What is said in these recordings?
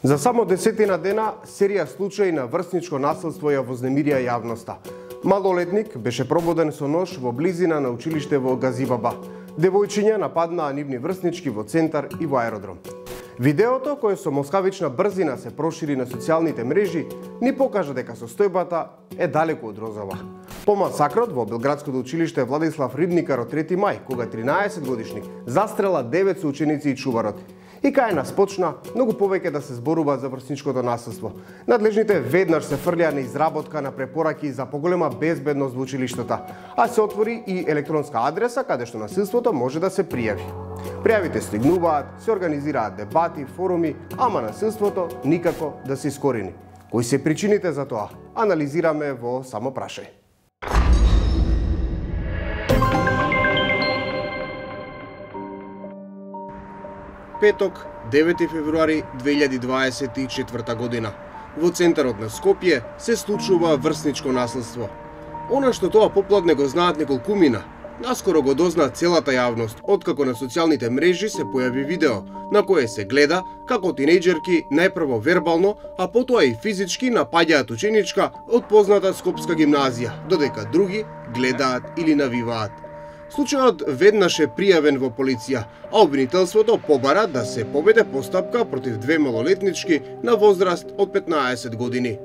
За само 10 дена серија случаи на врсничко насилство ја вознемирија јавноста. Малолетник беше пробуден со нож во близина на училиште во Газибаба. Девојчиња нападнаа нивни врснички во центар и во аеродром. Видеото, кое со москавична брзина се прошири на социјалните мрежи, ни покажа дека состојбата е далеку од розова. По масакрот во Белградското училиште Владислав Рибникар од 3 мај, кога 13 годишник застрела 9 соученици и чуварот. И кај нас почна многу повеќе да се зборува за врсничкото насилство. Надлежните веднаш се фрлија на изработка на препораки за поголема безбедност во училиштата, а се отвори и електронска адреса каде што насилството може да се пријави. Пријавите стигнуваат, се организираат дебати, форуми, ама насилството никако да се искорени. Кои се причините за тоа? Анализираме во Само прашај. Петок, 9 февруари 2024 година. Во центарот на Скопје се случува врсничко насилство. Она што тоа попладне го знаат неколкумина, наскоро го дозна целата јавност, откако на социјалните мрежи се појави видео, на кое се гледа како тинејџерки најпрво вербално, а потоа и физички напаѓаат ученичка од позната скопска гимназија, додека други гледаат или навиваат. Случајот веднаш е пријавен во полиција, а обвинителството побара да се поведе постапка против две малолетнички на возраст од 15 години.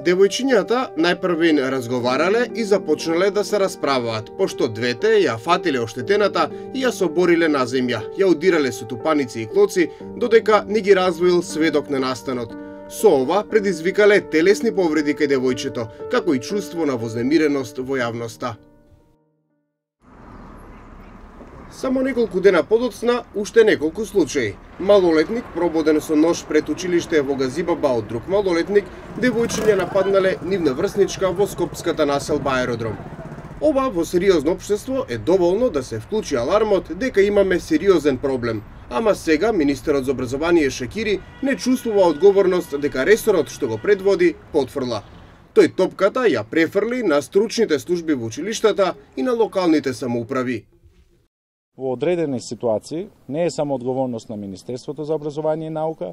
Девојчињата најпрвен разговарале и започнале да се расправаат, пошто двете ја фатиле оштетената и ја собориле на земја, ја удирале со тупаници и клоци, додека не ги раздвоил сведок на настанот. Со ова предизвикале телесни повреди кај девојчето, како и чувство на вознемиреност во јавноста. Само неколку дена подоцна, уште неколку случаи. Малолетник пробуден со нож пред училиште во Газибаба од друг малолетник, девојчиња нападнале нивна врсничка во скопската населба аеродром. Ова во сериозно општество е доволно да се вклучи алармот дека имаме сериозен проблем. Ама сега министерот за образование Шекири не чувствува одговорност дека ресорот што го предводи потфрла. Тој топката ја префрли на стручните служби во училиштата и на локалните самоуправи. Во одредени ситуации не е само одговорност на Министерството за образование и наука,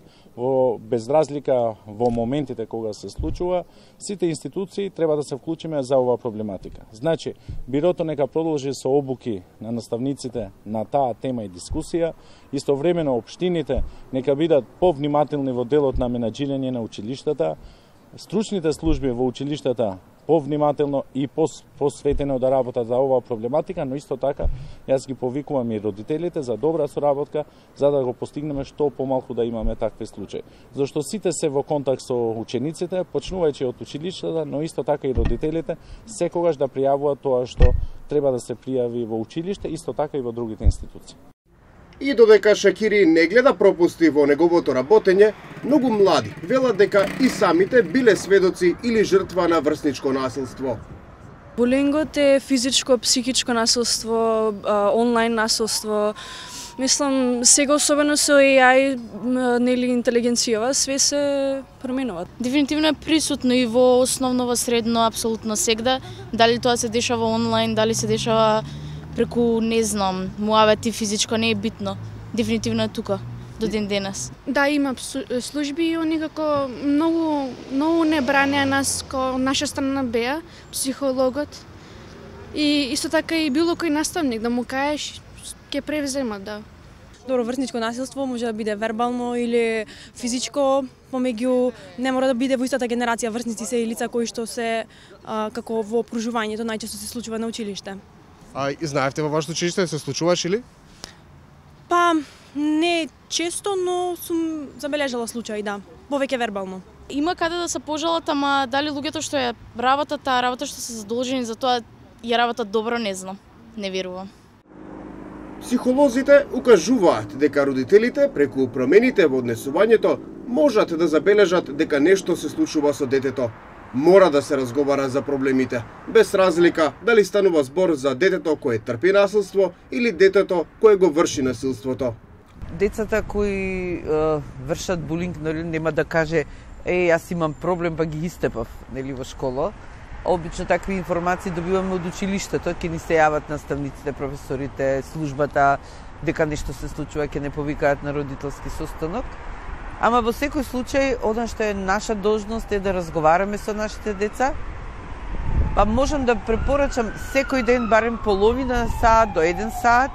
без разлика во моментите кога се случува, сите институции треба да се вклучиме за оваа проблематика. Значи, бирото нека продолжи со обуки на наставниците на таа тема и дискусија, истовремено општините нека бидат повнимателни во делот на менаџирање на училиштата, стручните служби во училиштата повнимателно и посветено да работат за оваа проблематика, но исто така јас ги повикувам и родителите за добра соработка, за да го постигнеме што помалку да имаме такви случаи. Зашто сите се во контакт со учениците, почнувајќи од училиштата, но исто така и родителите, секогаш да пријавуваат тоа што треба да се пријави во училиште, исто така и во другите институции. И додека Шакири не гледа пропусти во неговото работење, многу млади велат дека и самите биле сведоци или жртва на врсничко насилство. Булингот е физичко, психичко насилство, онлайн насилство. Мислам, сега особено со AI, нели интелигенцијава, све се променува. Дефинитивно е присутно и во основно, во средно, апсолутно сегда. Дали тоа се дешава онлайн, дали се дешава преку, не знам, муавети физичко, не е битно. Дефинитивно е тука, до ден денес. Да, има служби и они како многу не бранеа нас, ко наша страна беа, психологот. И исто така и било кој наставник, да му кажеш, ќе превземат, да. Добро, врсничко насилство може да биде вербално или физичко, помеѓу не мора да биде во истата генерација. Врсници се и лица кои што се како во окружувањето најчесто се случува на училиште. А знаевте во вашето училиште се случуваш или? Па не често, но сум забележала случаи, да. Повеќе вербално. Има каде да се пожалат, ама дали луѓето што ја работат, таа работа што се задолжени за тоа ја работат добро, не знам. Не верувам. Психолозите укажуваат дека родителите преку промените во однесувањето можат да забележат дека нешто се случува со детето. Мора да се разговара за проблемите, без разлика дали станува збор за детето кое трпи насилство или детето кое го врши насилството. Децата кои вршат булинг, нели, нема да каже јас имам проблем па ги истепав, нели, во школа. Обично такви информации добиваме од училиштето, ќе ни се јават наставниците, професорите, службата, дека нешто се случува, ќе не повикаат на родителски состанок. Ама во секој случај, она што е наша должност е да разговараме со нашите деца. Па можам да препорачам секој ден барем половина саат до 1 саат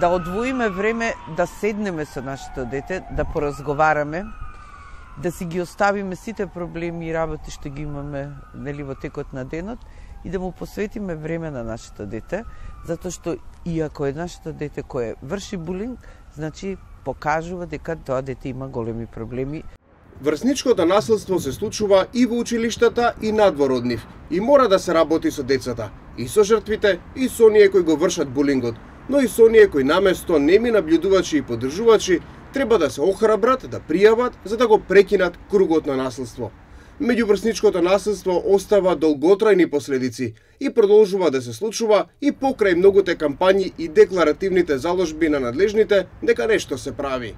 да одвоиме време да седнеме со нашето дете, да поразговараме, да си ги оставиме сите проблеми и работи што ги имаме во текот на денот и да му посветиме време на нашето дете, затоа што иако е нашето дете кое врши булинг, значи покажува дека тоа дете има големи проблеми. Врсничкото насилство се случува и во училиштата и надвор од нив и мора да се работи со децата, и со жртвите, и со оние кои го вршат булингот, но и со оние кои наместо неми наблюдувачи и поддржувачи треба да се охрабрат, да пријават за да го прекинат кругот на насилство. Меѓуврсничкото насилство остава долготрајни последици и продолжува да се случува и покрај многуте кампањи и декларативните заложби на надлежните дека нешто се прави.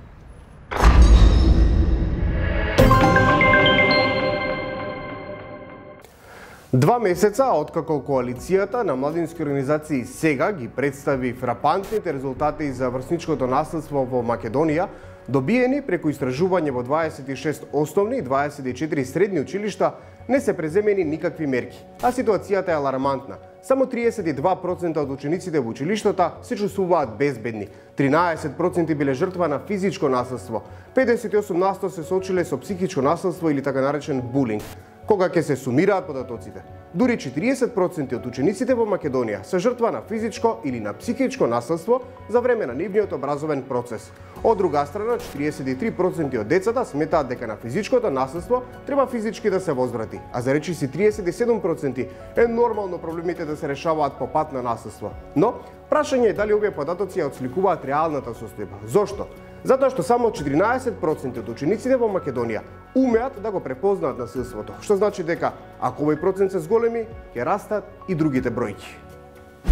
Два месеца откако коалицијата на младински организации сега ги представи фрапантните резултати за врсничкото насилство во Македонија, добиени преку истражување во 26 основни и 24 средни училишта, не се преземени никакви мерки, а ситуацијата е алармантна. Само 32% од учениците во училиштата се чувствуваат безбедни, 13% биле жртва на физичко насилство, 58% се соочиле со психичко насилство или така наречен булинг. Кога ќе се сумираат податоците, дури 40% од учениците во Македонија се жртва на физичко или на психичко насилство за време на нивниот образовен процес. Од друга страна, 43% од децата сметаат дека на физичкото насилство треба физички да се возврати, а за речиси 37% е нормално проблемите да се решаваат по пат на насилство. Но, прашање е дали овие податоци ја отсликуваат реалната состојба. Зошто? Затоа што само 14% од учениците во Македонија умеат да го препознаат насилството, што значи дека ако овој процент се зголеми, ќе растат и другите бројки.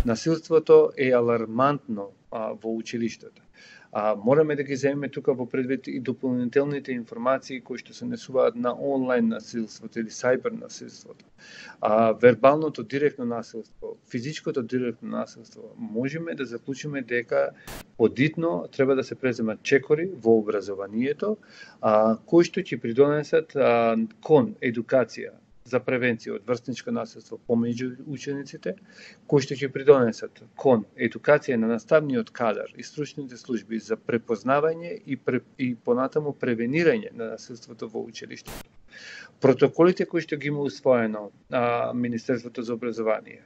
Насилството е алармантно во училиштата. Мораме да ги земеме тука во предвид и дополнителните информации кои што се несуваат на онлайн насилството или сайбер насилството. Вербалното директно насилство, физичкото директно насилство, можеме да заклучиме дека подитно треба да се преземат чекори во образованието, кои што ќе придонесат кон едукација за превенција од врсничко насилство помеѓу учениците, кои што ќе придонесат кон едукација на наставниот кадар и стручните служби за препознавање и понатаму превенирање на насилството во училиштето. Протоколите кои што ги има усвоено Министерството за образование,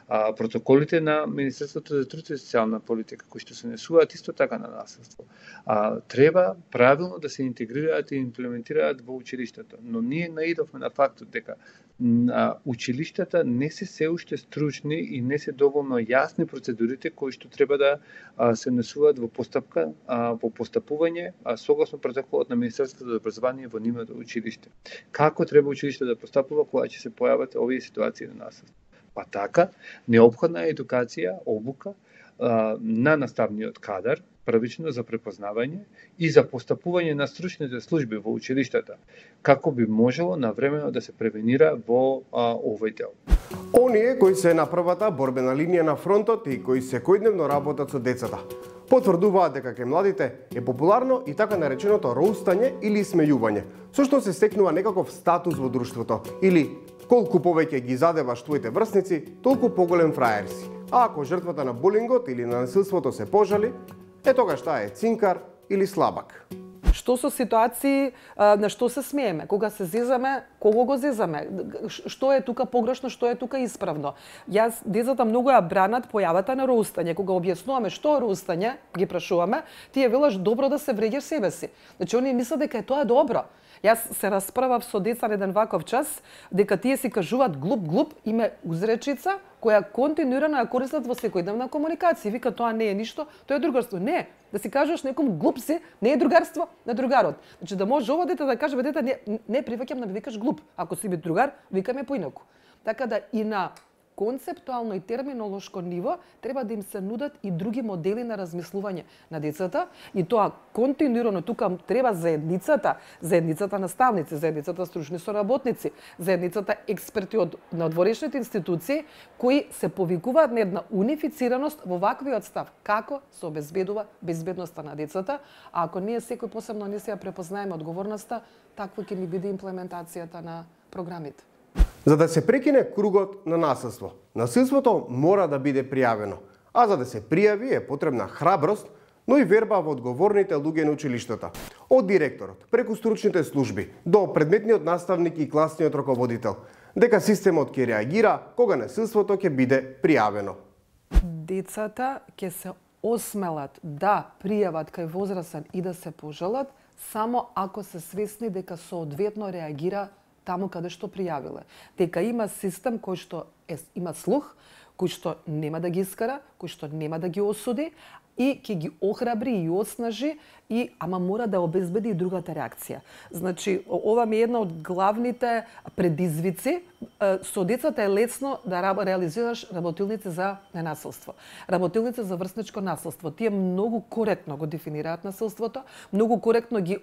протоколите на Министерството за труд и социјална политика кои што се несуваат исто така на насилство, треба правилно да се интегрираат и имплементираат во училиштето. Но ние наидовме на фактот дека училиштата не се уште стручни и не се доволно јасни процедурите кои што треба да се несуваат во постапка, во постапување согласно протоколот на Министерството за образование во нивното училиште. Како треба училиште да постапува кога ќе се појават овие ситуации на насилство? Па така, неопходна е едукација, обука на наставниот кадар, првично за препознавање и за постапување на стручните служби во училиштата, како би можело навремено да се превенира во овој дел. Оние кои се на првата борбена линија на фронтот и кои секојдневно работат со децата, потврдуваат дека кај младите е популарно и така нареченото роустање или смејување, со што се стекнува некаков статус во друштвото, или колку повеќе ги задеваш твоите врсници, толку поголем фраер си. А ако жртвата на булингот или на насилството се пожали, тогаш таа е цинкар или слабак. Што со ситуации на што се смееме? Кога се зезаме, кого го зезаме? Што е тука погрешно, што е тука исправно? Децата многу ја бранат појавата на роустање. Кога објаснуваме што е роустање, ги прашуваме, тие велаш добро да се вреѓаш себе си. Значи, они мислат дека е тоа добро. Јас се расправав со деца на еден ваков час, дека тие си кажуваат глуп, име узречица, која континуирано ја користат во секојдневна комуникација. Вика, тоа не е ништо, тоа е другарство. Не, да си кажеш некому глуп си, не е другарство на другарот. Значи, да може ова дете да каже, дете, не приваќам да ме викаш глуп. Ако си би другар, викаме поинаку. Така да и на концептуално и терминолошко ниво треба да им се нудат и други модели на размислување на децата и тоа континуирано тука треба заедницата наставници, заедницата стручни соработници, заедницата експерти од надворешните институции кои се повикуваат на една унифицираност во ваквиот став како се обезбедува безбедноста на децата, а ако ние секој посебно не се ја препознаеме одговорноста, таква ќе ни биде имплементацијата на програмите. За да се прекине кругот на насилство, насилството мора да биде пријавено, а за да се пријави е потребна храброст, но и верба во одговорните луѓе на училиштата. Од директорот, преку стручните служби, до предметниот наставник и класниот раководител, дека системот ќе реагира кога насилството ќе биде пријавено. Децата ќе се осмелат да пријават кај возрастен и да се пожалат само ако се свесни дека соодветно реагира таму каде што пријавиле. Дека има систем кој што има слух, кој што нема да ги искара, кој што нема да ги осуди и ќе ги охрабри и оснажи ама мора да обезбеди и другата реакција. Значи, ова ми е една од главните предизвици. Со децата е лесно да реализираш работилници за ненасилство. Работилници за врсничко насилство. Тие многу коректно го дефинираат насилството, многу коректно ги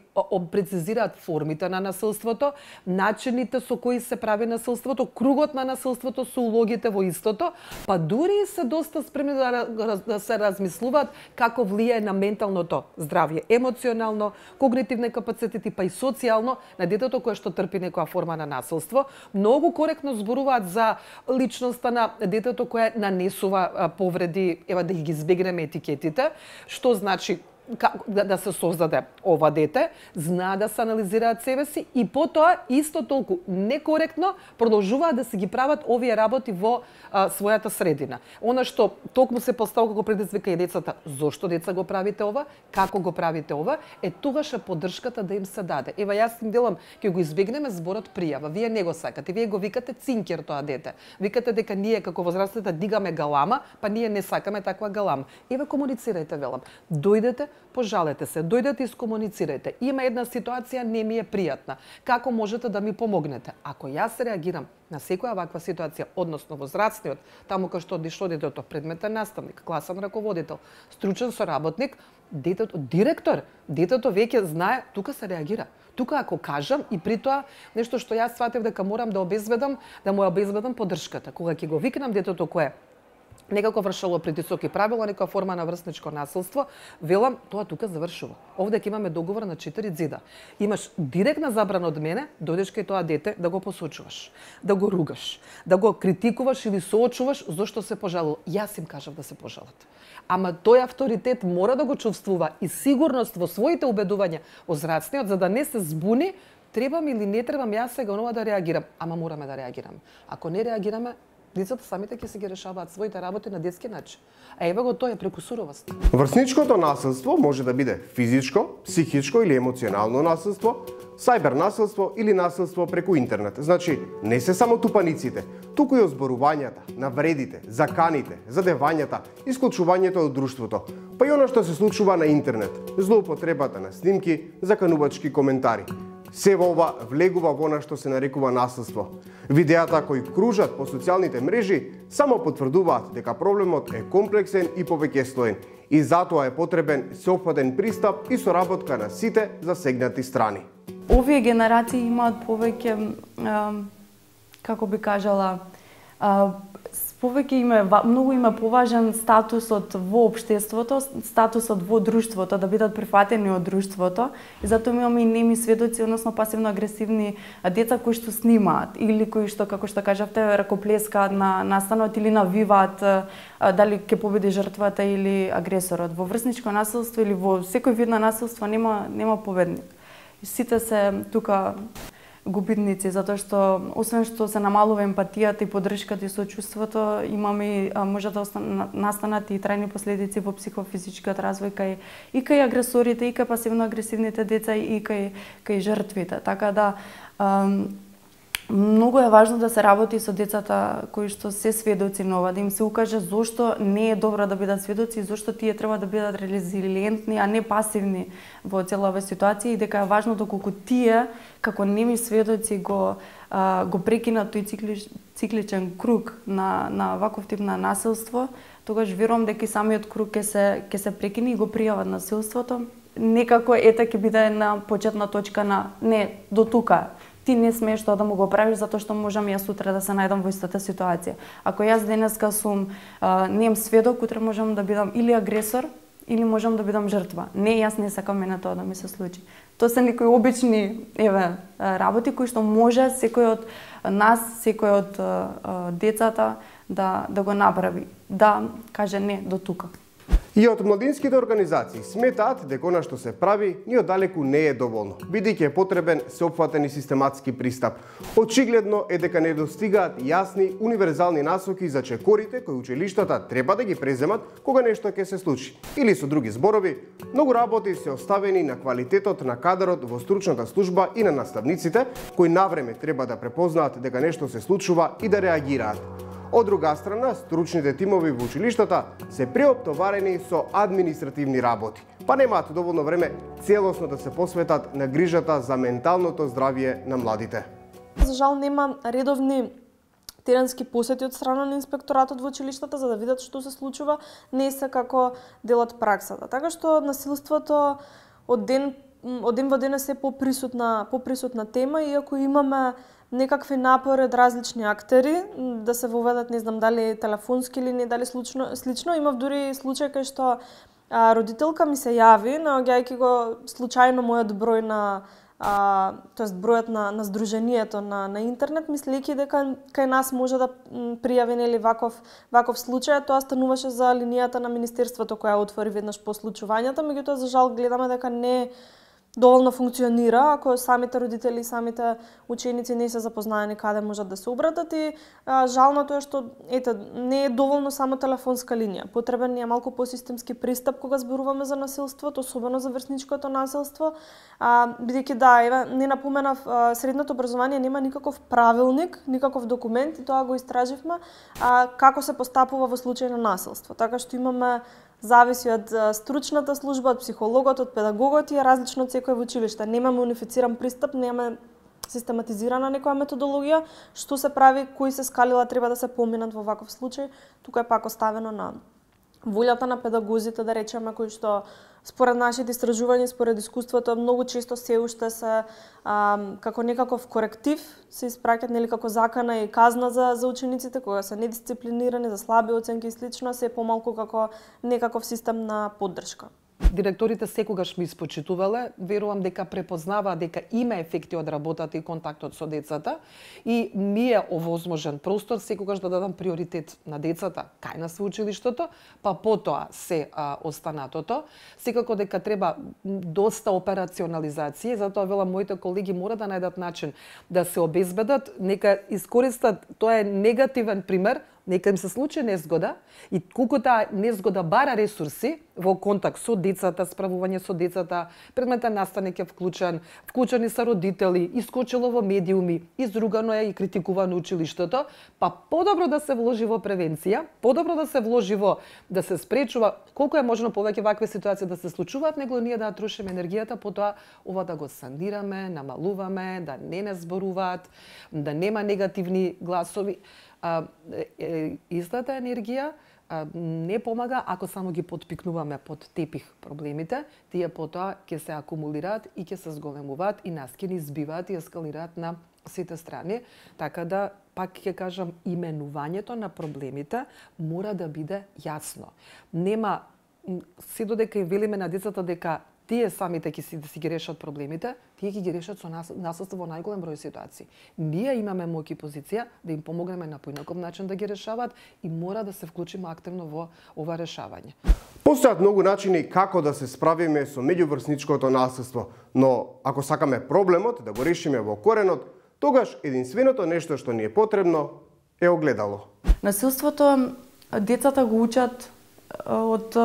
прецизираат формите на насилството, начините со кои се прави насилството, кругот на насилството со улогите во истото, па дури се доста спремни да се размислуваат како влијае на менталното здравје, емоционално, когнитивни капацитети, па и социјално на детето кое што трпи некоја форма на насилство. Многу коректно зборуваат за личноста на детето кое нанесува повреди, ева да ги избегнеме етикетите, што значи да се создаде ова дете, знаа да се анализираат себе си и потоа исто толку некоректно продолжуваат да се ги прават овие работи во својата средина. Она што токму се поставува како предизвика и децата, зошто деца го правите ова, како го правите ова, тогаш поддршката да им се даде. Ева јас им делам, ќе го избегнеме зборот пријава. Вие не го сакате, вие го викате цинкер тоа дете. Викате дека ние како возрастните дигаме галама, па ние не сакаме таква галама. Ева комуницирајте, велам. Дојдете, пожалете се, дојдете и скомуницирајте. Има една ситуација, не ми е пријатна. Како можете да ми помогнете? Ако јас реагирам на секоја ваква ситуација, односно возрастниот, таму кај што одишло детето, предметен наставник, класен раководител, стручен соработник, детето, директор, детето веќе знае, тука се реагира. Тука ако кажам и при тоа нешто што јас сватев дека морам да му обезбедам поддршката. Кога ќе го викнам детето кое некако вршало притисок и правило некоја форма на врсничко насилство, велам, тоа тука завршува. Овде ќе имаме договор на 4 зида. Имаш директна забрана од мене, дојдеш кај тоа дете да го посочуваш, да го ругаш, да го критикуваш или соочуваш зошто се пожалил. Јас им кажав да се пожалат. Ама тој авторитет мора да го чувствува и сигурност во своите убедувања возрастниот, за да не се збуни, требам или не требам јас сега нова да реагирам. Ама мораме да реагираме. Ако не реагираме, децата самите ќе се ги решаваат своите работи на детски начин. А ева го тоа е преку суровост. Врсничкото насилство може да биде физичко, психичко или емоционално насилство, сајбер насилство или насилство преку интернет. Значи, не се само тупаниците, туку и озборувањата, навредите, заканите, задевањата, исклучувањето од друштвото, па и оно што се случува на интернет, злоупотребата на снимки, заканувачки коментари. Се во ова влегува во она што се нарекува насилство. Видеата кои кружат по социјалните мрежи само потврдуваат дека проблемот е комплексен и повеќестоен и затоа е потребен сеопфатен пристап и соработка на сите засегнати страни. Овие генерации имаат повеќе, како би кажала, многу има поважен статусот во општеството, статусот во друштвото, да бидат прифатени од друштвото. И затоа имаме и неми сведоци, односно пасивно агресивни деца кои што снимаат или кои што, како што кажавте, ракоплескаат на настанот или навиваат дали ќе победи жртвата или агресорот. Во врсничко насилство или во секој вид на насилство нема победник. Сите се тука губитници, затоа што освен што се намалува емпатијата и поддршката и сочувството, имаме може да настанат и трајни последици во психофизичкиот развој кај агресорите, и кај пасивно агресивните деца, и кај жртвите. Така да многу е важно да се работи со децата кои што се сведоци на ова, да им се укаже зошто не е добро да бидат сведоци и зошто тие треба да бидат резилиентни, а не пасивни во цела оваа ситуација, и дека е важно доколку тие како неми сведоци го го прекина тој цикличен круг на ваков тип на насилство, тогаш верувам дека и самиот круг ќе се прекине и го пријават насилството. Некако ета ќе биде на почетна точка на не до тука. Ти не смееш тоа да му го правиш затоа што можам јас утре да се најдам во истата ситуација. Ако јас денеска сум нем сведок, утре можам да бидам или агресор или можам да бидам жртва. Не, јас не сакам мене тоа да ми се случи. Тоа се некои обични работи кои што може секој од нас, секој од децата да го направи, да каже не до тука. И од младинските организации сметаат дека она што се прави ни оддалеку не е доволно, бидејќи е потребен сеопфатен и систематски пристап. Очигледно е дека не достигаат јасни универзални насоки за чекорите кои училиштата треба да ги преземат кога нешто ќе се случи. Или со други зборови, многу работи се оставени на квалитетот на кадарот во стручната служба и на наставниците, кои навреме треба да препознаат дека нешто се случува и да реагираат. Од друга страна, стручните тимови во училиштата се преоптоварени со административни работи, па немаат доволно време целосно да се посветат на грижата за менталното здравје на младите. За жал нема редовни теренски посети од страна на инспекторатот во училиштата за да видат што се случува, не се како дел од праксата. Така што насилството од ден во ден е се поприсутна тема, иако имаме некакви напори од различни актери да се воведат, не знам дали телефонски или не, дали слично. Имав дури случај кај што родителка ми се јави, наоѓајќи го случајно мојот број тоест бројот на здруженијето на интернет, мислејќи дека кај нас може да пријави нели ваков случај. Тоа стануваше за линијата на министерството која отвори веднаш по случувањата, меѓутоа за жал гледаме дека не доволно функционира, ако самите родители и самите ученици не се запознаени каде можат да се обратат и жалното е што не е доволно само телефонска линија. Потребен е малку посистемски пристап кога зборуваме за насилството, особено за врсничкото насилство, бидејќи не напоменав, средното образование нема никаков правилник, никаков документ и тоа го истраживме како се постапува во случај на насилство. Така што имаме зависи од стручната служба, од психологот, од педагогот и е различно од секој во училиште. Немаме унифициран пристап, немаме систематизирана некоја методологија, што се прави, кои се скалила треба да се поминат во ваков случај. Тука е пак оставено на волјата на педагозите, да речеме, кои што според нашите истражувања, според искуството, многу често се уште се како некаков коректив се испраќаат нели како закана и казна за учениците кога се недисциплинирани, за слаби оценки и слично, се помалку како некаков систем на поддршка. Директорите секогаш ми испочитувале, верувам дека препознаваа дека има ефекти од работата и контактот со децата и ми е овозможен простор секогаш да дадам приоритет на децата кај на свеучилиштето, па потоа се останатото. Секако дека треба доста операционализација, затоа велам моите колеги мора да најдат начин да се обезбедат, нека искористат, тоа е негативен пример, нека им се случи незгода и колку таа незгода бара ресурси во контакт со децата, справување со децата, предметен наставник е вклучени се родители, искочило во медиуми, изругано е и критикувано училиштето, па подобро да се вложи во превенција, подобро да се вложи во да се спречува колку е можно повеќе вакви ситуации да се случуваат, него ние да трошиме енергијата потоа ова да го санираме, намалуваме, да не зборуваат, да нема негативни гласови. Истата енергија не помага ако само ги потпикнуваме под тепих проблемите, тие потоа ќе се акумулираат и ќе се зголемуваат и нас ќе ни избиваат и ескалираат на сите страни, така да пак ќе кажам именувањето на проблемите мора да биде јасно. Нема се додека и велиме на децата дека тие самите ќе си ги решат проблемите, тие ќе ги решат со насилство во најголем број ситуации. Ние имаме моќ и позиција да им помогнеме на поинаков начин да ги решаваат и мора да се вклучиме активно во ова решавање. Постојат многу начини како да се справиме со меѓуврсничкото насилство, но ако сакаме проблемот да го решиме во коренот, тогаш единственото нешто што ни е потребно е огледало. Насилството децата го учат од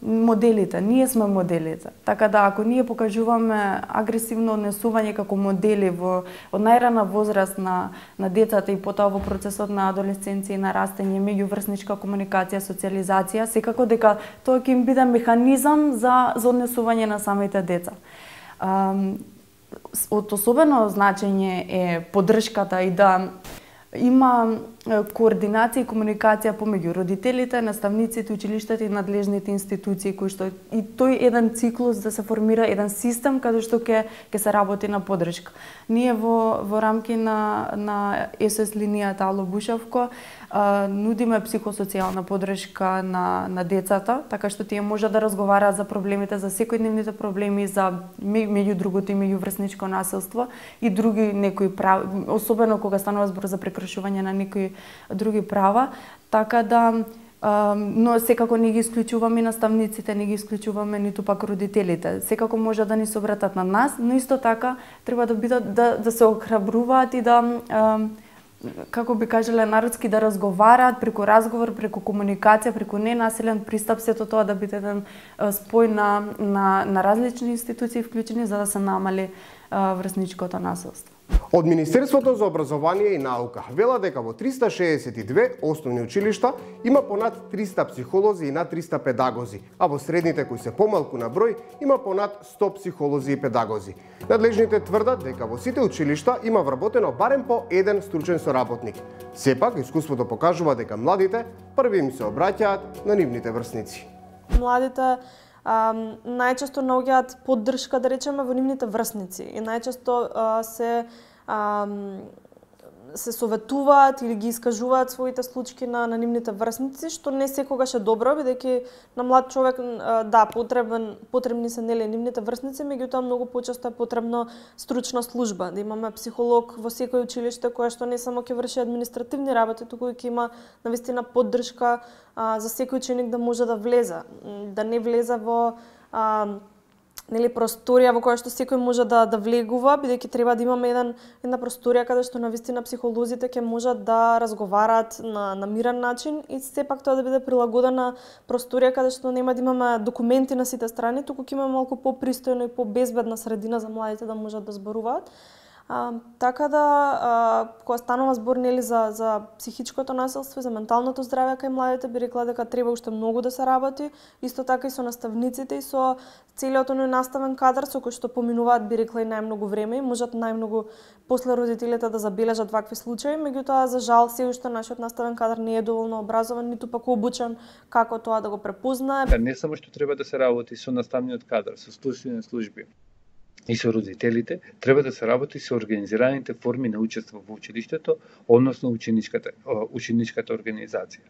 моделите. Ние сме моделите. Така да ако ние покажуваме агресивно однесување како модели од најрана возраст на децата и потоа во процесот на адолесценција и нарастање, меѓуврсничка комуникација, социализација, секако дека тоа ќе им биде механизам за однесување на самите деца. од особено значење е поддршката и да има координација и комуникација помеѓу родителите, наставниците, училиштата и надлежните институции, кои што и тој еден циклус да се формира еден систем каде што ќе се работи на поддршка. Ние во рамки на СОС линијата Ало Бушевко нудиме психосоцијална поддршка на децата, така што тие може да разговараат за проблемите, за секојдневните проблеми, за меѓу другото и меѓуврсничко насилство и други некои права, особено кога станува збор за прекршување на некои други права, така да но секако не ги исклучуваме наставниците, не ги исклучуваме ниту пак родителите. Секако може да ни се обратат на нас, но исто така треба да бидат да се охрабруваат и да како би кажале народски да разговараат преку разговор, преку комуникација, преку ненасилен пристап, сето тоа да биде еден спој на различни институции вклучени за да се намали врсничкото насилство. Од Министерството за образование и наука вела дека во 362 основни училишта има понад 300 психолози и над 300 педагози, а во средните кои се помалку на број има понад 100 психолози и педагози. Надлежните тврдат дека во сите училишта има вработено барем по еден стручен соработник. Сепак, искуството покажува дека младите први им се обраќаат на нивните врсници. Младите најчесто наоѓаат поддршка, да речеме, во нивните врсници и најчесто се советуваат или ги искажуваат своите случаи на нивните врсници, што не секогаш е добро, бидејќи на млад човек потребни се нели нивните врсници, меѓутоа многу почесто е потребно стручна служба, да имаме психолог во секој училиште која што не само ќе врши административни работи, туку и ќе има навистина поддршка за секој ученик да може да влезе, да не влезе во нели просторија во која што секој може да влегува, бидејќи треба да имаме една просторија каде што навистина психолозите ќе можат да разговараат на мирен начин и сепак тоа да биде прилагодена просторија каде што нема да имаме документи на сите страни, туку ќе имаме малку попристојна и побезбедна средина за младите да можат да зборуваат. Така да, кога станува збор нели за психичкото насилство и за менталното здравје кај младите, би рекла дека треба уште многу да се работи, исто така и со наставниците и со целиот оној наставен кадар со кој што поминуваат, би рекла, и најмногу време и можат најмногу после родителите да забележат вакви случаи, меѓутоа за жал се уште нашиот наставен кадар не е доволно образован, ниту пак обучен како тоа да го препознае. Не само што треба да се работи со наставниот кадар, со струčни служби и со родителите, треба да се работи со организираните форми на учество во училиштето, односно ученичката организација.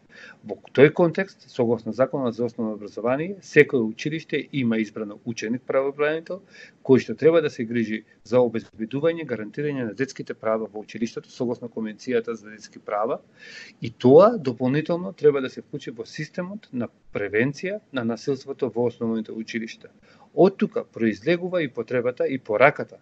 Во тој контекст, согласно Законот за основно образование, секој училиште има избрано ученик правобранител, кој што треба да се грижи за обезбедување, гарантирање на детските права во училиштето, согласно Конвенцијата за детски права, и тоа дополнително треба да се вклучи во системот на превенција на насилството во основните училишта. Од тука произлегува и потребата и пораката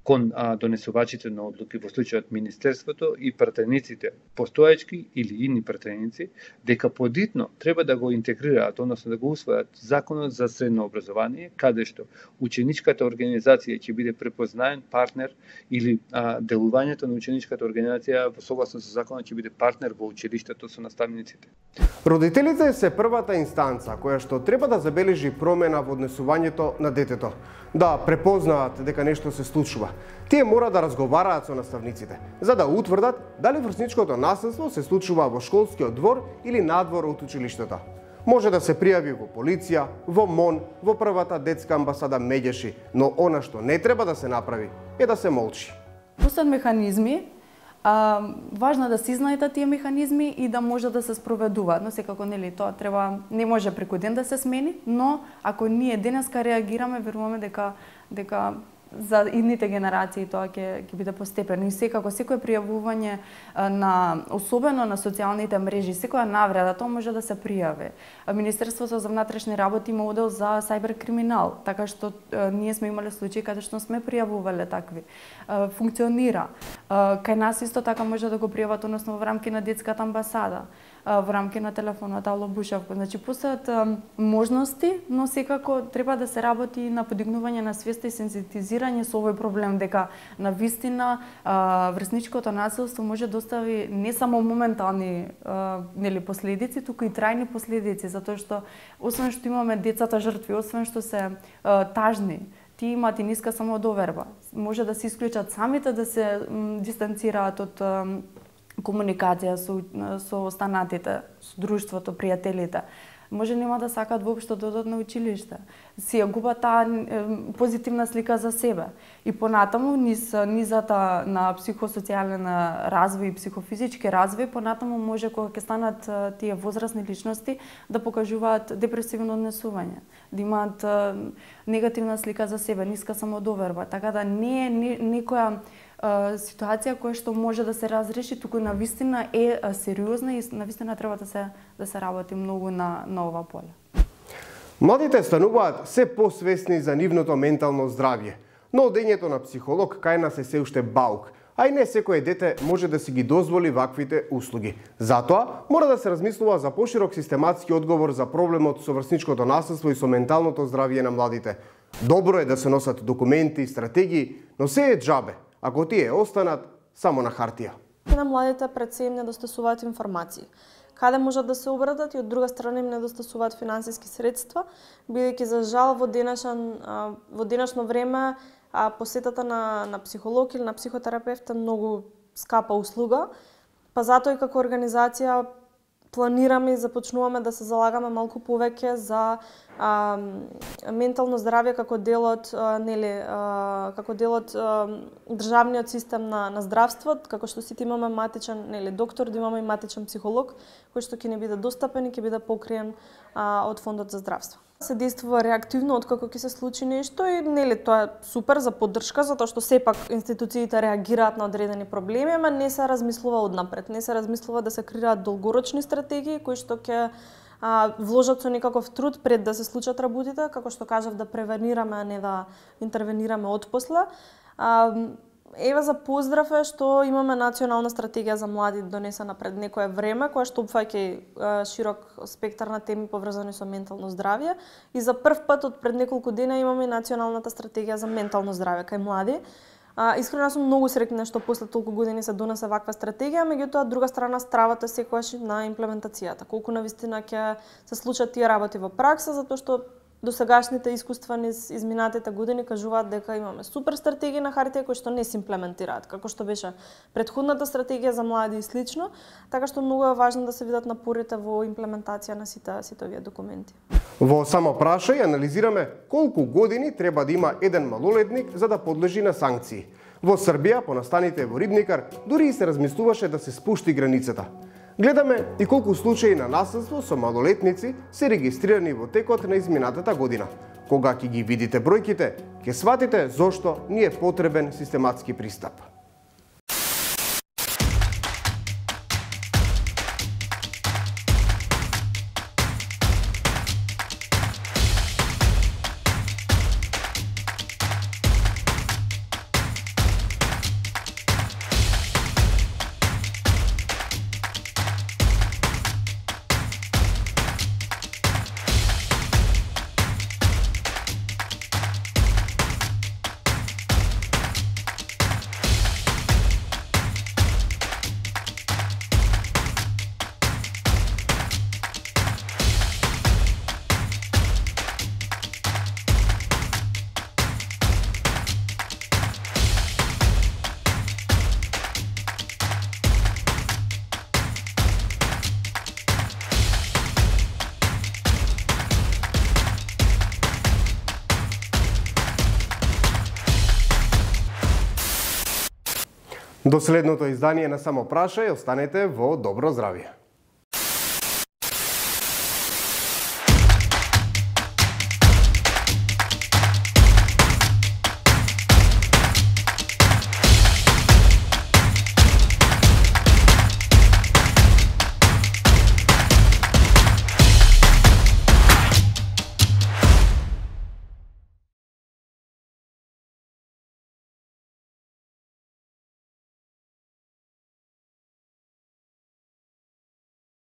кон донесувачите на одлуки, во случајот Министерството и пратениците, постоечки или идни пратеници, дека подитно треба да го интегрираат, односно да го усвојат Законот за средно образование, каде што ученичката организација ќе биде препознаен партнер или делувањето на ученичката организација во согласно со Законот ќе биде партнер во училиштето со наставниците. Родителите се првата инстанца која што треба да забележи промена во однесувањето на детето, да препознаат дека нешто се случува. Тие мора да разговараат со наставниците, за да утврдат дали врсничкото насилство се случува во школскиот двор или надвор од училиштето. Може да се пријави во полиција, во МОН, во првата детска амбасада Меѓеши, но она што не треба да се направи е да се молчи. Пустат механизми, важно е да се знаат тие механизми и да може да се спроведуваат, но секако нели тоа треба, не може преку ден да се смени, но ако ние денеска реагираме, веруваме дека за идните генерации тоа ќе биде постепено и секако секое пријавување особено на социјалните мрежи, секоја навреда тоа може да се пријави. Министерството за внатрешни работи има одел за сајбер криминал, така што ние сме имале случаи каде што сме пријавувале такви. Функционира. Кај нас исто така може да го пријават, односно во рамки на детската амбасада, во рамки на телефонот Ало Бушевко. Значи постојат можности, но секако треба да се работи на подигнување на свеста и сензитизирање со овој проблем, дека навистина врсничкото насилство може да остави не само моментални нели последици, туку и трајни последици, затоа што освен што имаме децата жртви, освен што се тажни, тие имаат и ниска самодоверба. Може да се исклучат самите, да се дистанцираат од комуникација со останатите, со друштвото, пријателите. Може нема да сакаат воопшто да одат на училиште. Си ја губат таа позитивна слика за себе. И понатаму, низата на психосоцијален развој и психофизички развој, понатаму може кога ќе станат тие возрастни личности да покажуваат депресивно однесување, да имаат негативна слика за себе, ниска самодоверба. Така да не е некоја ситуација која што може да се разреши, туку навистина е сериозна и навистина треба да се работи многу на ова поле. Младите стануваат се посвесни за нивното ментално здравје, но одењето на психолог кај нас е се уште баук, а и не секое дете може да си ги дозволи ваквите услуги. Затоа мора да се размислува за поширок систематски одговор за проблемот со врсничкото насилство и со менталното здравје на младите. Добро е да се носат документи и стратегии, но се е џабе ако тие останат само на хартија. На младите пред се им недостасуваат информации. Каде можат да се обратат и од друга страна им недостасуваат финансиски средства, бидејќи за жал во денешно време посетата на психолог или на психотерапевт е многу скапа услуга, па затоа и како организација планираме и започнуваме да се залагаме малку повеќе за ментално здравје како дел од државниот систем на здравство, како што сите имаме матичен доктор, да имаме и матичен психолог, кој што ќе не биде достапен и ќе биде покриен од фондот за здравство. Се действува реактивно откако ќе се случи нешто и тоа е супер за поддршка, затоа што сепак институциите реагираат на одредени проблеми, ама не се размислува однапред, не се размислува да се креираат долгорочни стратегии кои што ќе вложат со некаков труд пред да се случат работите, како што кажав, да превенираме, а не да интервенираме отпосле. Ева за поздрав е што имаме национална стратегија за млади донесена пред некое време, која што опфаќа широк спектар на теми поврзани со ментално здравје и за прв пат од пред неколку дена имаме и националната стратегија за ментално здравје кај млади. Искрено сум многу среќна што после толку години се донесе ваква стратегија, меѓутоа од друга страна стравата секогаш на имплементацијата. Колку навистина ќе се случат тие работи во пракса, затоа што досегашните искуства низ изминатите години кажуваат дека имаме супер стратегии на хартија кои што не се имплементираат, како што беше претходната стратегија за млади и слично, така што многу е важно да се видат напорите во имплементација на сите овие документи. Во само прашај анализираме колку години треба да има еден малолетник за да подлежи на санкции. Во Србија, по настаните во Рибникар, дури и се размислуваше да се спушти границата. Гледаме и колку случаи на насилство со малолетници се регистрирани во текот на изминатата година. Кога ќе ги видите бројките, ќе сватите зошто ни е потребен систематски пристап. До следното издание на Само прашај, останете во добро здравје.